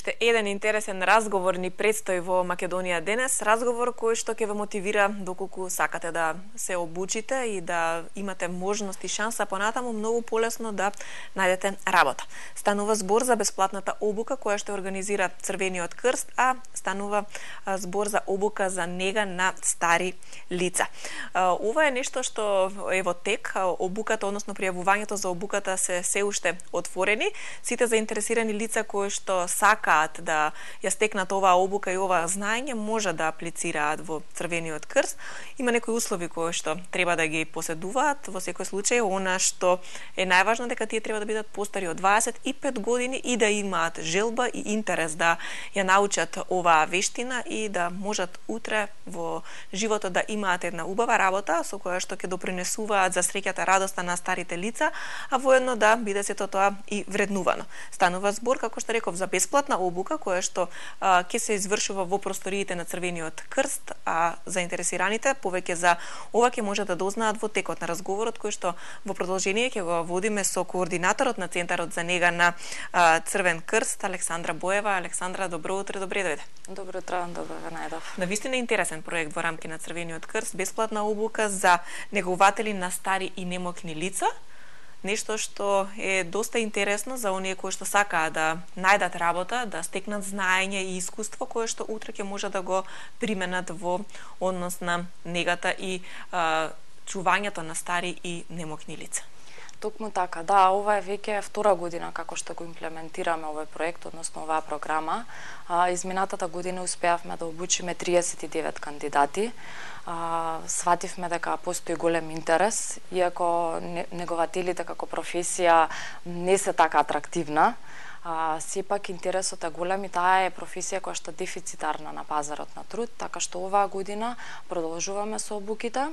Уште еден интересен разговор ни предстои во Македонија денес, разговор кој што ќе ве мотивира доколку сакате да се обучите и да имате можност и шанса понатаму многу полесно да најдете работа. Станува збор за бесплатната обука која што организира Црвениот крст, а станува збор за обука за нега на стари лица. Ова е нешто што е во тек, обуката, односно пријавувањето за обуката се уште отворени. Сите заинтересирани лица кои што сакаат да ја стекнат оваа обука и оваа знаење може да аплицираат во Црвениот крст. Има некои услови кои што треба да ги поседуваат. Во секој случај, она што е најважно дека тие треба да бидат постари од 25 години и да имаат желба и интерес да ја научат оваа вештина и да можат утре во животот да имаат една убава работа со која што ќе допринесуваат за среќата, радоста на старите лица, а воедно да биде сето тоа и вреднувано. Станува збор, како што реков, за бесплатна обука која што ќе се извршува во просториите на Црвениот крст, а заинтересираните повеќе за ова ќе може да дознаат во текот на разговорот кој што во продолжение ќе го водиме со координаторот на Центарот за нега на Црвен крст, Александра Боева. Александра, добро утро, добре дојде. Добро утро, добро ве најдов. Навистина интересен проект во рамки на Црвениот крст, бесплатна обука за негователи на стари и немокни лица. Нешто што е доста интересно за оние кои што сакаат да најдат работа, да стекнат знаење и искуство кое што утре ќе може да го применат во однос на негата и чувањето на стари и немокни лица. Токму така, да, ова е веќе втора година како што го имплементираме овој проект, односно оваа програма. Изминатата година успеавме да обучиме 39 кандидати. Свативме дека постои голем интерес, иако негователите како професија не се така атрактивна. Сепак интересот е голем и таа е професија која што дефицитарна на пазарот на труд, така што оваа година продолжуваме со обуките.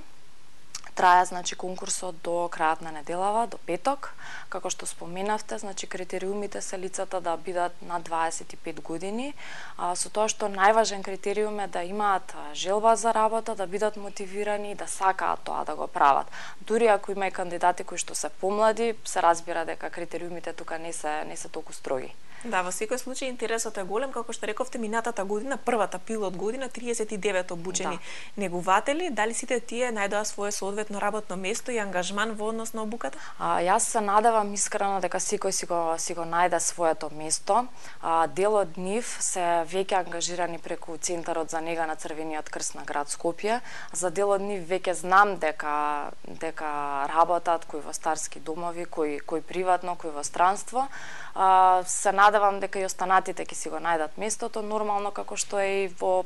Трае, значи, конкурсот до крајот на неделава, до петок. Како што споменавте, значи, критериумите се лицата да бидат над 25 години, со тоа што најважен критериум е да имаат желба за работа, да бидат мотивирани и да сакаат тоа да го прават. Дури ако има и кандидати кои што се помлади, се разбира дека критериумите тука не се толку строги. Да, во секој случај интересот е голем, како што рековте, минатата година, првата пилот година, 39 обучени негователи. Дали сите тие најдоа свое соодветно работно место и ангажман во однос на обуката? Јас се надевам искрено дека секој си го најде своето место. Дел од нив се веќе ангажирани преку Центарот за нега на Црвениот крст на град Скопје. За дел од нив веќе знам дека работат кои во старски домови, кои приватно, кои во странство. Се надевам дека и останатите ќе си го најдат местото, нормално како што е и во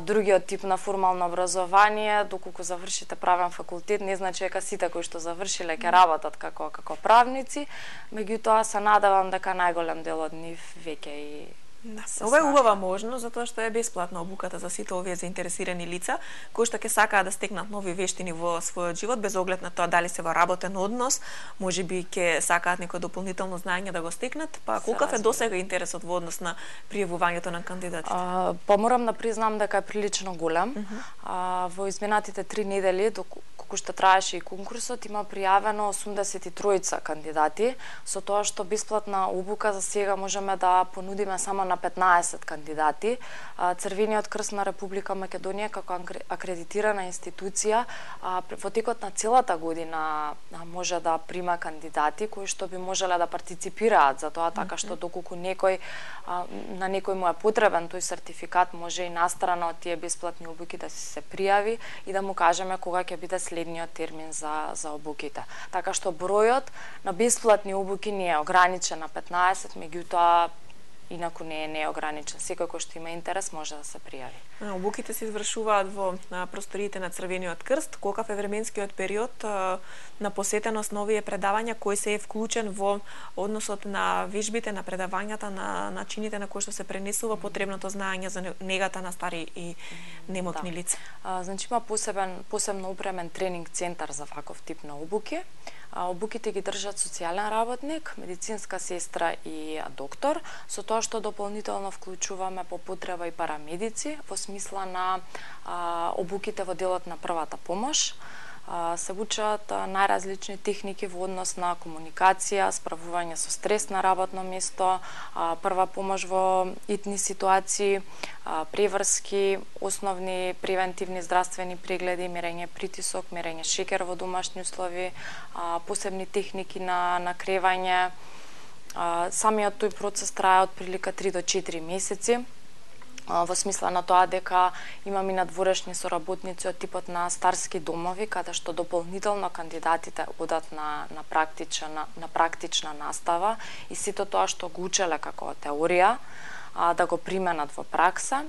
другиот тип на формално образование. Доколку завршите правен факултет, не значи дека сите кои што завршиле ќе работат како правници, меѓутоа се надевам дека најголем дел од нив веќе и ова е убава можност, затоа што е бесплатна обуката за сите овие заинтересирани лица кои што ќе сакаат да стекнат нови вештини во својот живот, без оглед на тоа дали се во работен однос, можеби ќе сакаат некој дополнително знаење да го стекнат, па колкав е досега интересот во однос на пријавувањето на кандидатите? Морам да признам дека е прилично голем. Во изминатите 3 недели, доколку што траеше и конкурсот, има пријавено 83 кандидати, со тоа што бесплатна обука за сега можеме да понудиме само на 15 кандидати. Црвениот крст на Република Македонија како акредитирана институција во текот на целата година може да прима кандидати кои што би можеле да партиципираат за тоа, така што доколку на некој му е потребен тој сертификат, може и настрана од тие бесплатни обуки да се пријави и да му кажеме кога ќе биде следниот термин за обуките. Така што бројот на бесплатни обуки не е ограничен на 15, меѓутоа инаку не е ограничен. Секој кој што има интерес може да се пријави. Обуките се извршуваат во просториите на Црвениот крст. Колкав е временскиот период на посетеност на овие предавања, кој се е вклучен во односот на вежбите, на предавањата, на начините на кои што се пренесува потребното знаење за негата на стари и немокни лица? Значи има посебно опремен тренинг центар за ваков тип на обуки. Обуките ги држат социјален работник, медицинска сестра и доктор, со тоа што дополнително вклучуваме по потреба и парамедици во смисла на обуките во делот на првата помош. Се учат најразлични техники во однос на комуникација, справување со стрес на работно место, прва помош во итни ситуации, преврски, основни превентивни здравствени прегледи, мерење притисок, мерење шекер во домашни услови, посебни техники на накревање. Самиот тој процес трае од прилика 3 до 4 месеци. Во смисла на тоа дека имаме надворешни соработници од типот на старски домови, каде што дополнително кандидатите одат на практична настава и сето тоа што го учеле како теорија, да го применат во пракса.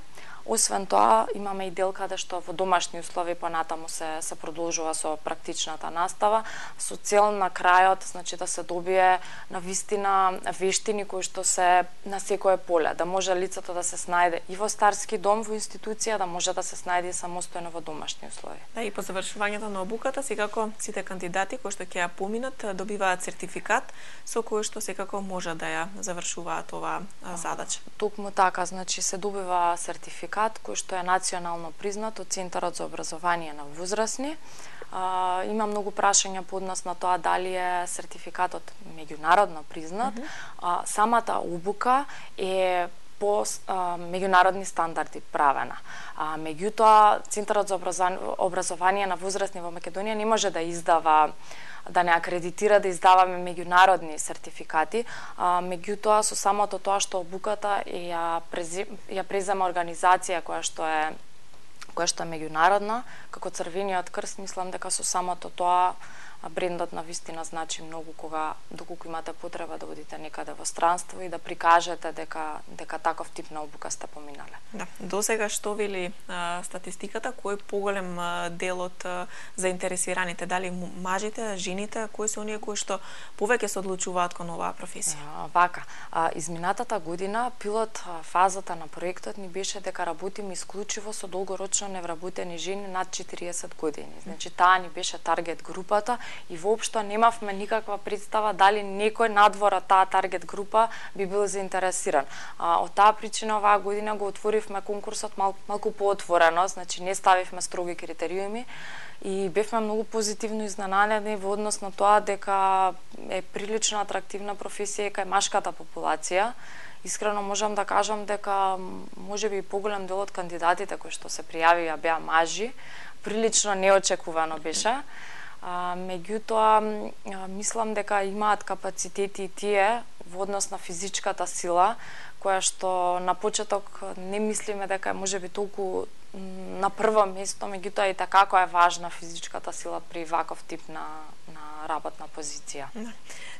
Освен тоа, имаме и дел каде што во домашни услови понатаму се продолжува со практичната настава, со цел на крајот, значи да се добие навистина вештини кои што се на секое поле, да може лицето да се снајде и во старски дом, во институција, да може да се снајде и самостојно во домашни услови. Да, и по завршувањето на обуката, секако сите кандидати кои што ќе ја поминат добиваат сертификат со кој што секако може да ја завршуваат оваа задача. Токму така, значи се добива сертификат кој што е национално признат од Центарот за образование на возрастни. Има многу прашања по однос на тоа дали е сертификатот меѓународно признат. Самата обука е по меѓународни стандарди правена. Меѓутоа, Центарот за образование на возрастни во Македонија не може да издава, да не акредитира, да издаваме меѓународни сертификати, меѓутоа со самото тоа што обуката ја презема организација која што е меѓународна, како Црвениот крст, мислам дека со самото тоа брендот на вистина значи многу доколку имате потреба да одите некаде во странство и да прикажете дека таков тип на обука сте поминале. Да, досега што вели статистиката, кој поголем дел од заинтересираните, дали мажите, жените, кои се оние кои што повеќе се одлучуваат кон оваа професија? Вака, изминатата година пилот фазата на проектот ни беше дека работиме исклучиво со долгорочно невработени жени над 40 години. Значи таа ни беше таргет групата и воопшто немавме никаква представа дали некој надвор од таа таргет група би бил заинтересиран. Од таа причина оваа година го отворивме конкурсот малку поотворено, значи не ставивме строги критериуми и бевме многу позитивно изненадени во однос на тоа дека е прилично атрактивна професија кај машката популација. Искрено можам да кажам дека можеби поголем дел од кандидатите кои што се пријавија беа мажи, прилично неочекувано беше. Меѓутоа, мислам дека имаат капацитети и тие во однос на физичката сила, која што на почеток не мислиме дека можеби толку на прво место, меѓутоа и така која е важна физичката сила при ваков тип на работна позиција.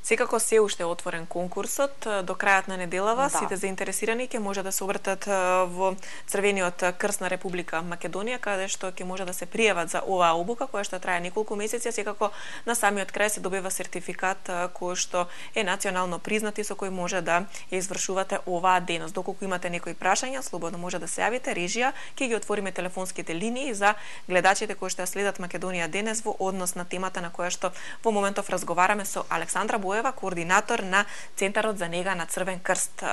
Секако се уште отворен конкурсот, до крајот на неделава сите заинтересирани ќе може да се обратат во Црвениот крст на Република Македонија, каде што ќе може да се пријават за оваа обука која што трае неколку месеци, секако на самиот крај се добива сертификат кој што е национално признат и со кој може да ја извршувате оваа дејност. Доколку имате некои прашања, слободно може да се јавите, режија ќе ги отвориме телефонските линии за гледачите кои што ја следат Македонија денес во однос на темата на која што во моментов разговараме со Александра Боева, координатор на Центарот за нега на Црвен крст.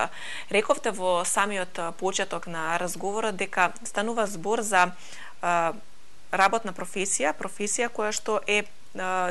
Рековте во самиот почеток на разговорот дека станува збор за работна професија која што е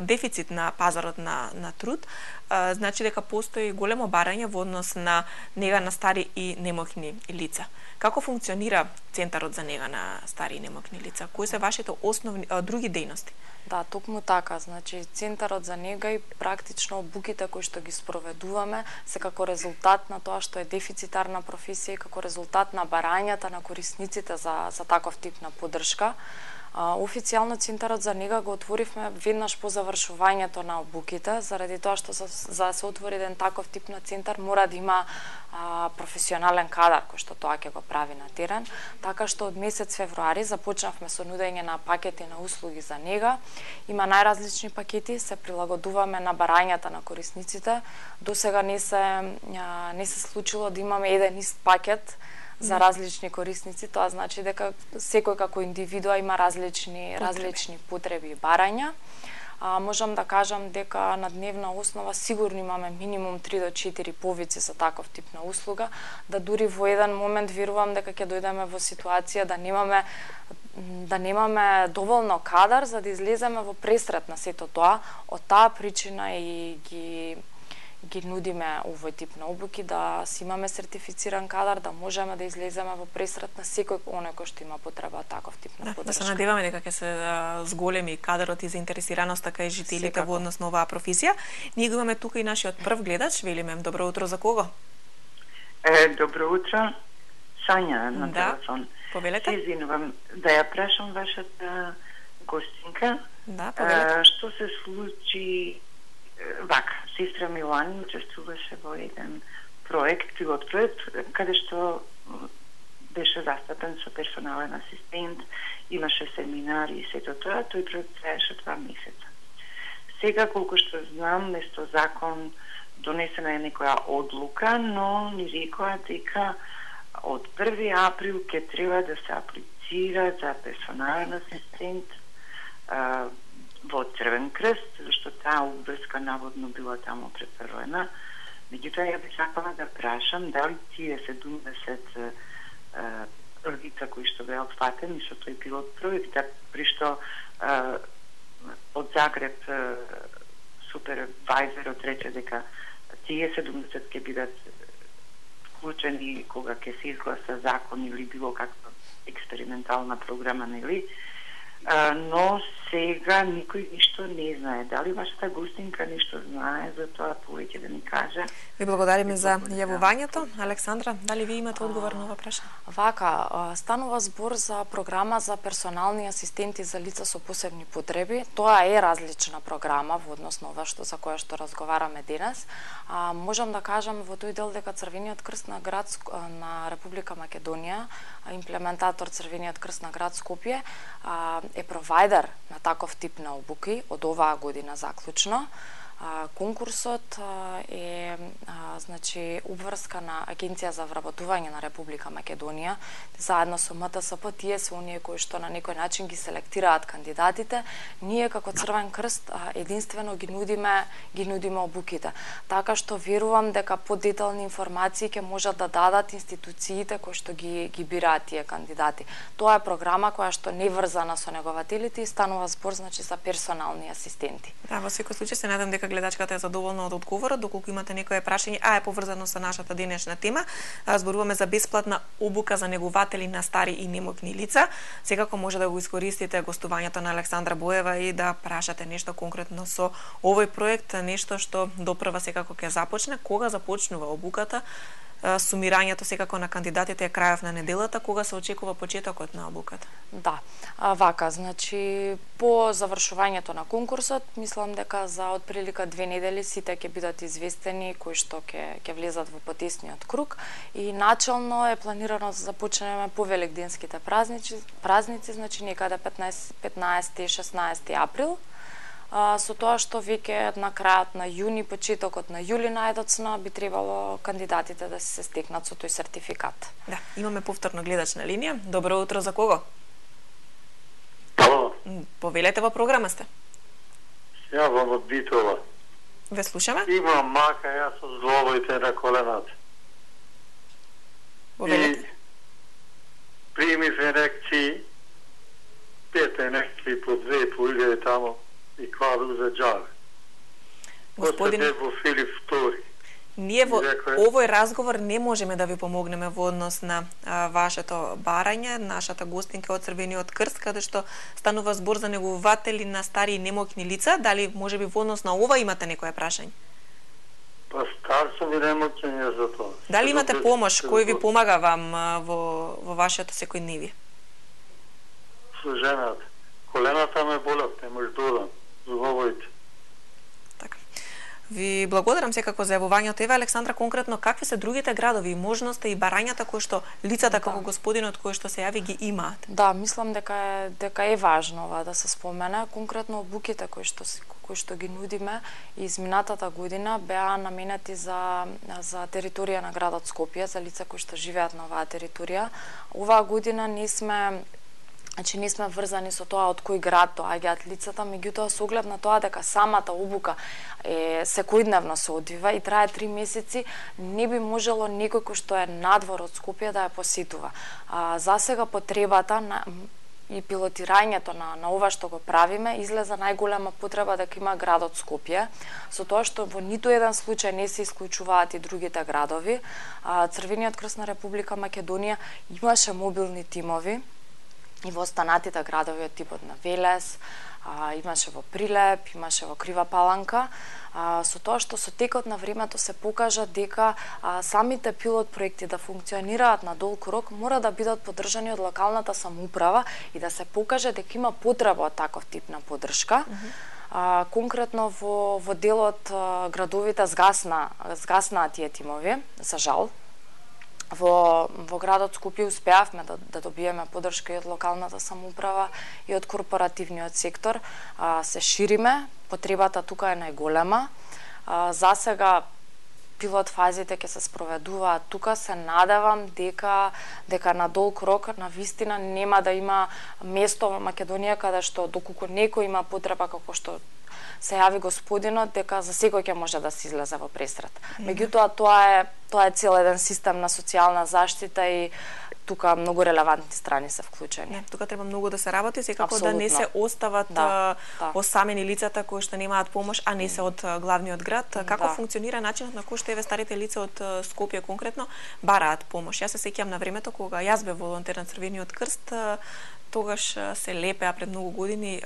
дефицит на пазарот на труд, значи дека постои големо барање во однос на нега на стари и немокни лица. Како функционира Центарот за нега на стари и немокни лица? Кои се вашите основни други дејности? Да, токму така. Значи, Центарот за нега и практично обуките кои што ги спроведуваме се како резултат на тоа што е дефицитарна професија и како резултат на барањата на корисниците за таков тип на поддршка. Официјално Центарот за нега го отворивме веднаш по завршувањето на обуките, заради тоа што за да се отвори еден таков тип на центар мора да има професионален кадар кој што тоа ќе го прави на терен, така што од месец февруари започнавме со нудење на пакети на услуги за нега. Има најразлични пакети, се прилагодуваме на барањата на корисниците. Досега не се случило да имаме еден ист пакет за различни корисници, тоа значи дека секој како индивидуа има различни потреби и барања. Можам да кажам дека на дневна основа сигурно имаме минимум 3 до 4 повици за таков тип на услуга, да дури во еден момент верувам дека ќе дојдеме во ситуација да немаме да немаме доволно кадар за да излеземе во пресрет на сето тоа. Од таа причина и ги нудиме овој тип на обуки, да си имаме сертифициран кадар, да можеме да излеземе во пресрет на секој оној кој што има потреба таков тип на поддршка. Да се надеваме дека ќе се зголеми кадарот и заинтересираноста кај жителите во однос на оваа професија. Ние го имаме тука и нашиот прв гледач, велиме добро утро, за кого? Добро утро, Сања на телефон. Повелете. Се извинувам да ја прашам вашата гостинка. Да, повелете. Што се случи вака, сестра Милани учествуваше во еден проект, пилот проект, каде што беше застапен со персонален асистент, имаше семинари и сето тоа, тој проект траеше 2 месеца. Сега, колку што знам, место закон донесена е некоја одлука, но ни рекоа дека од 1 април ќе треба да се аплицира за персонален асистент во Црвен крст, зашто таа обврска наводно била таму преферувана. Меѓутоа, ја би сакала да прашам дали тие 70 лица кои што беа опфатени со тој пилот проект, при што од Загреб супервајзерот рече дека тие 70 ќе бидат вклучени кога ќе се изгласа закон или било каква експериментална програма, нели? Но сега никој ништо не знае. Дали вашата гостинка ништо знае за тоа, повеќе да ни каже? Ви благодариме за јавувањето. Александра, дали ви имате одговор на ова прашање? Вака, станува збор за програма за персонални асистенти за лица со посебни потреби. Тоа е различна програма во однос на ова за која што разговараме денес. Можам да кажам во тој дел дека Црвениот крст на град на Република Македонија, имплементатор Црвениот крст на град Скопје, е провајдер на таков тип на обуки од оваа година заклучно. Конкурсот е значи обврска на Агенција за вработување на Република Македонија, заедно со МТСП, тие се оние кои што на некој начин ги селектираат кандидатите. Ние како Црвен крст единствено ги нудиме обуките. Така што верувам дека подетални информации ќе можат да дадат институциите кои што ги бираат тие кандидати. Тоа е програма која што не врзана со негователите и станува збор значи за персонални асистенти. Да, во секој случај се надам дека гледачката е задоволна од одговорот. Доколку имате некое прашање, е поврзано со нашата денешна тема, зборуваме за бесплатна обука за негователи на стари и немотни лица. Секако може да го искористите гостувањето на Александра Боева и да прашате нешто конкретно со овој проект, нешто што допрва секако ќе започне. Кога започнува обуката? Сумирањето секако на кандидатите е крајов на неделата, кога се очекува почетокот на обуката? Да, вака, значи по завршувањето на конкурсот, мислам дека за отприлика 2 недели сите ќе бидат известени кои што ќе влезат во потесниот круг и начелно е планирано да започнеме по великденските празници, значи некаде 15-16 април. Со тоа што веќе на крајот на јуни, почетокот на јули најдоцна би требало кандидатите да се стекнат со тој сертификат. Да, имаме повторно гледач на линија. Добро утро, за кого? Ало. Повелете, во програма сте. Јавам од Битола. Ве слушаме. Имам мака, јас со зглобоите на колената. Повелете. И примив инекции, 5 инекции по 2 по илјаде тамо, и квадру за джаве. Господин, во Филип II. ние во овој разговор не можеме да ви помогнеме во однос на вашето барање. Нашата гостинка од Црвениот крст, каде што станува збор за негователи на стари и немоќни лица. Дали можеби во однос на ова имате некое прашање? Па стар сум и немоќен за тоа. Дали имате помош, кој ви помага вам во вашето секојдневие? Со жената. Колената ме болат, не може додам. Зубовоите. Така. Ви благодарам секако за јавувањето. Еве, Александра, конкретно какви се другите градови и можности и барањата кои што лицата како господинот кои што се јави ги имаат? Да, мислам дека е важно ова да се спомене. Конкретно обуките кои што ги нудиме изминатата година беа наменети за територија на градот Скопје, за лица кои што живеат на оваа територија. Оваа година не сме врзани со тоа од кој град доаѓаат лицата, меѓутоа со оглед на тоа дека самата обука секојдневно се одвива и трае 3 месеци, не би можело некој кој што е надвор од Скопје да ја посетува. За сега потребата и пилотирањето на ова што го правиме, излеза најголема потреба дека има градот Скопје, со тоа што во ниту еден случај не се исклучуваат и другите градови. Црвениот крст на Република Македонија имаше мобилни тимови и во останатите градови од типот на Велес, имаше во Прилеп, имаше во Крива Паланка, со тоа што со текот на времето се покажа дека самите пилот проекти да функционираат на долг рок мора да бидат поддржани од локалната самоуправа и да се покаже дека има потреба од таков тип на поддршка. Конкретно во делот градовите згаснаа тие тимови, за жал. Во градот Скопје успеавме да добиеме поддршка и од локалната самоуправа и од корпоративниот сектор. Се шириме, потребата тука е најголема. Засега пилот фазите ќе се спроведуваат тука. Се надевам дека на долг рок на вистина нема да има место во Македонија каде што доколку некој има потреба како што се јави господинот, дека за секој ќе може да се излезе во пресрет. Меѓутоа тоа е цел еден систем на социјална заштита и тука многу релевантни страни се вклучени. Тука треба многу да се работи, секако Абсолютно. Да не се остават осамени лицата кои што немаат помош, а не се од главниот град. Како функционира начинот на кој што старите лица од Скопје конкретно бараат помош? Јас се сеќавам на времето кога јас бев волонтер на Црвениот крст, тогаш се лепеа пред многу години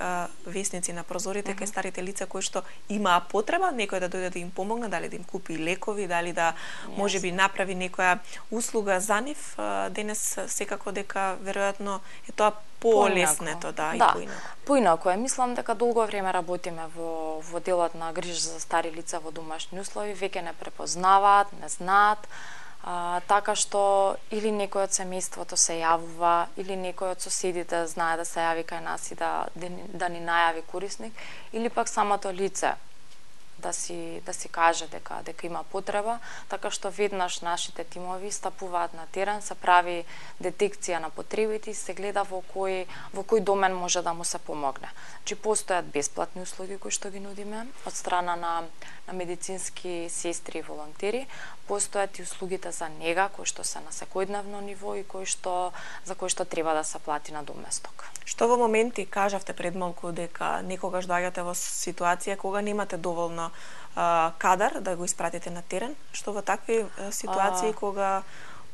весници на прозорите кај старите лица кои што имаа потреба некој да дојде да им помогне, дали да им купи лекови, дали да можеби направи некоја услуга за нив. Денес секако дека веројатно е тоа полеснето, и поинако. Поинако е. Мислам дека долго време работиме во делот на грижа за стари лица во домашни услови, веќе не препознаваат, не знаат. Така што или некој од семејството се јавува, или некој од соседите знае да се јави кај нас и да ни најави корисник, или пак самото лице да си каже дека има потреба, така што веднаш нашите тимови стапуваат на терен, се прави детекција на потребите и се гледа во кој домен може да му се помогне. Значи постојат бесплатни услуги кои што ги нудиме од страна на медицински сестри и волонтери, постојат и услугите за нега кои што се на секојдневно ниво и за кои што треба да се плати на доместок. Што во моменти кажавте пред малку дека некогаш доаѓате во ситуација кога немате доволно кадар да го испратите на терен, што во такви ситуации кога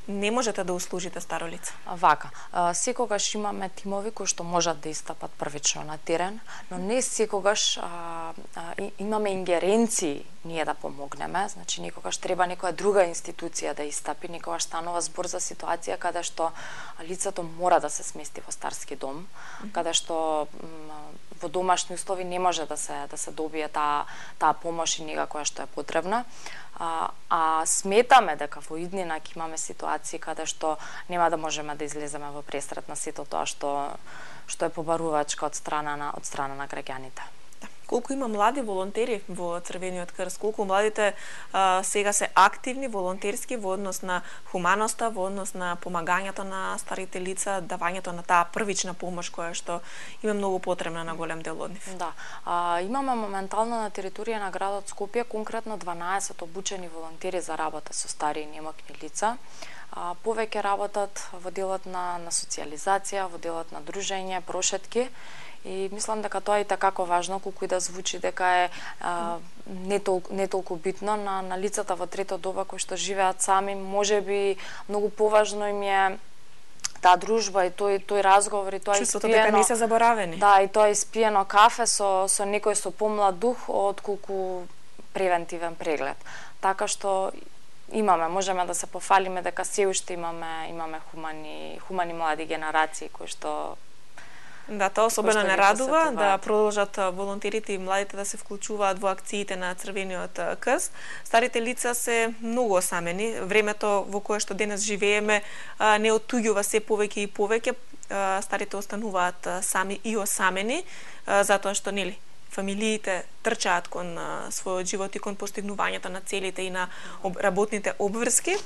не можете да услужите старо лице? Вака, секогаш имаме тимови кои што можат да истапат првично на терен, но не секогаш имаме ингеренции ние да помогнеме, значи некогаш треба некоја друга институција да истапи, некогаш станува збор за ситуација каде што лицето мора да се смести во старски дом, каде што во домашни услови не може да се добие таа помош и нега која што е потребна. Сметаме дека во иднина ќе имаме ситуации каде што нема да можеме да излеземе во пресрет на сето тоа што е побарувачка од страна на граѓаните. Колку има млади волонтери во Црвениот крст, колку младите сега се активни волонтерски во однос на хуманоста, во однос на помагањето на старите лица, давањето на таа првична помош која што има многу потребна на голем дел од нив. Да, имаме моментално на територија на градот Скопје конкретно 12 обучени волонтери за работа со стари и немокни лица. Повеќе работат во делот на социјализација, во делот на дружење, прошетки. И мислам дека тоа е и такако важно, колку и да звучи дека е не толку битно на лицата во трето доба кои што живеат сами, можеби многу поважно им е таа дружба и тој разговор и тоа чувството дека не се заборавени. Да, и тоа испиено кафе со некој со помлад дух отколку превентивен преглед. Така што можеме да се пофалиме дека се уште имаме хумани млади генерации кои што Да, тоа особено не радува да продолжат волонтерите и младите да се вклучуваат во акциите на Црвениот крст. Старите лица се многу осамени. Времето во кое што денес живееме не оттуѓува се повеќе и повеќе. Старите остануваат сами и осамени, затоа што фамилиите трчаат кон својот живот и кон постигнувањето на целите и на работните обврски.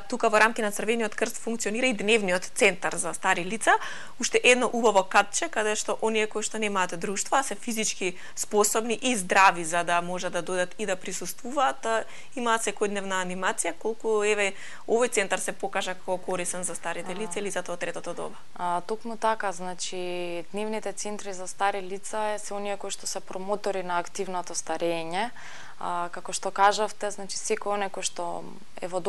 тука во рамки на Црвениот крст функционира и дневниот центар за стари лица, уште едно убаво катче каде што оние кои што немаат друштва, се физички способни и здрави за да може да додат и да присуствуваат, имаат секојдневна анимација, колку еве овој центар се покажа како корисен за старите лица или за тоа третото доба. Токму така, значи дневните центри за стари лица се оние кои што се промотори на активното старење. Како што кажавте, значи секој оне кој што е во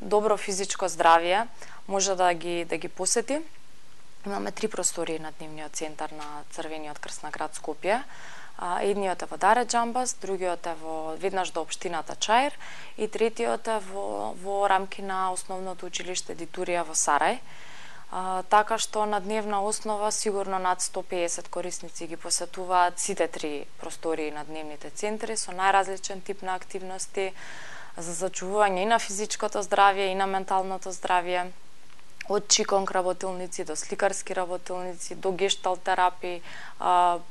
добро физичко здравје може да ги посети. Имаме 3 простории на дневниот центар на Црвениот крст на град Скопје. Едниот е во Даре Џамбас, другиот е веднаш до општината Чаир и третиот е во рамки на основното училиште Дитурија во Сарај. Така што на дневна основа сигурно над 150 корисници ги посетуваат сите 3 простории на дневните центри со најразличен тип на активности за зачувување и на физичкото здравје и на менталното здравје, од чиконг работилници до сликарски работилници, до гешталт терапии,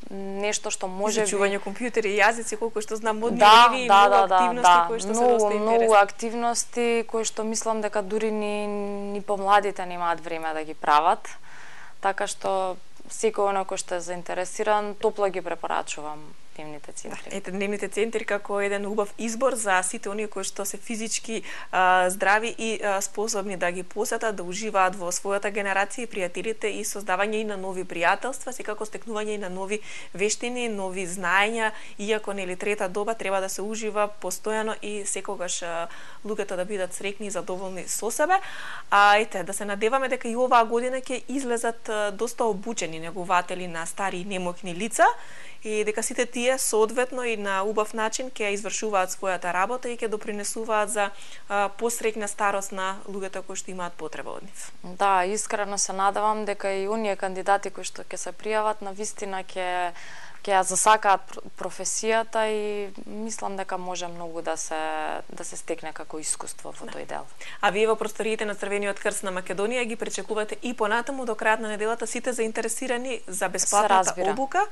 нешто што може изучување компјутери и јазици, колку што знам, модни игри и многу активности кои што се доста интересни. Многу активности кои што мислам дека дури ни помладите немаат време да ги прават. Така што секој оној кој што е заинтересиран, топло ги препорачувам дневните центри. Ете, дневните центри како еден убав избор за сите оние кои што се физички здрави и способни да ги посетат, да уживаат во својата генерација и пријателите и создавање и на нови пријателства, секако стекнување и на нови вештини, нови знаења, иако нели трета доба треба да се ужива постојано и секогаш луѓето да бидат среќни и задоволни со себе. Ете, да се надеваме дека и оваа година ќе излезат доста обучени негователи на стари и немоќни лица и дека сите тие соодветно и на убав начин ќе извршуваат својата работа и ќе допринесуваат за посреќна старост на луѓето кои што имаат потреба од нив. Да, искрено се надевам дека и оние кандидати кои што ќе се пријават на вистина ќе ја засакаат професијата и мислам дека може многу да се стекне како искуство во тој дел. А вие во просториите на Црвениот крст на Македонија ги пречекувате и понатаму до крајот на неделата сите заинтересирани за бесплатната обука.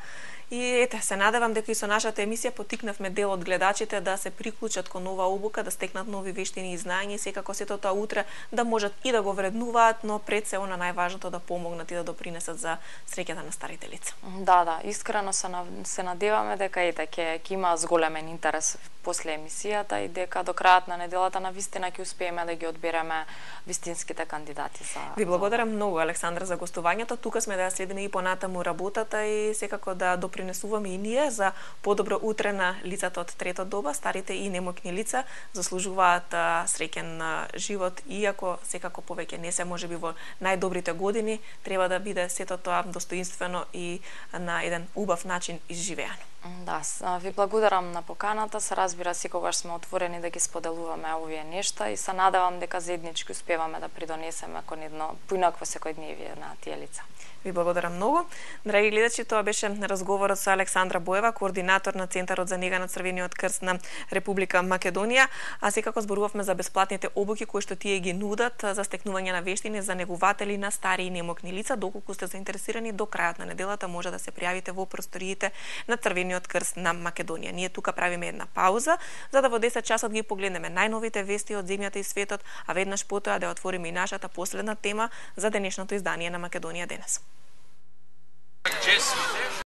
И ете, се надевам дека и со нашата емисија поттикнавме дел од гледачите да се приклучат кон оваа обука, да стекнат нови вештини и знаења и секако сето тоа утре да можат и да го вреднуваат, но пред се она најважното да помогнат и да допринесат за среќата на старите лица. Да, искрено се надеваме дека ќе има зголемен интерес после емисијата и дека до крајот на неделата на вистина ќе успееме да ги одбереме вистинските кандидати за. Ви благодарам многу, Александра, за гостувањето. Тука сме да ја следиме и понатаму работата и секако да допринесуваме и ние за подобро утре на лицата од трета доба. Старите и немоќни лица заслужуваат среќен живот, иако секако повеќе не се можеби во најдобрите години, треба да биде сето тоа достоинствено и на еден убав начин изживеано. Да, ви благодарам на поканата, се разбира секогаш сме отворени да ги споделуваме овие нешта и се надевам дека заеднички успеваме да придонесеме кон едно поинакво секојдневие на тие лица. Ви благодарам многу. Драги гледачи, тоа беше разговорот со Александра Боева, координатор на Центарот за нега на Црвениот крст на Република Македонија, а секако зборувавме за бесплатните обуки кои што тие ги нудат за стекнување на вештини за негователи на стари и немоќни лица. Доколку сте заинтересирани, до крајот на неделата може да се пријавите во просториите на Црвениот крст на Македонија. Ние тука правиме една пауза за да во 10 часот ги погледнеме најновите вести од земјата и светот, а веднаш потоа да отвориме и нашата последна тема за денешното издание на Македонија денес.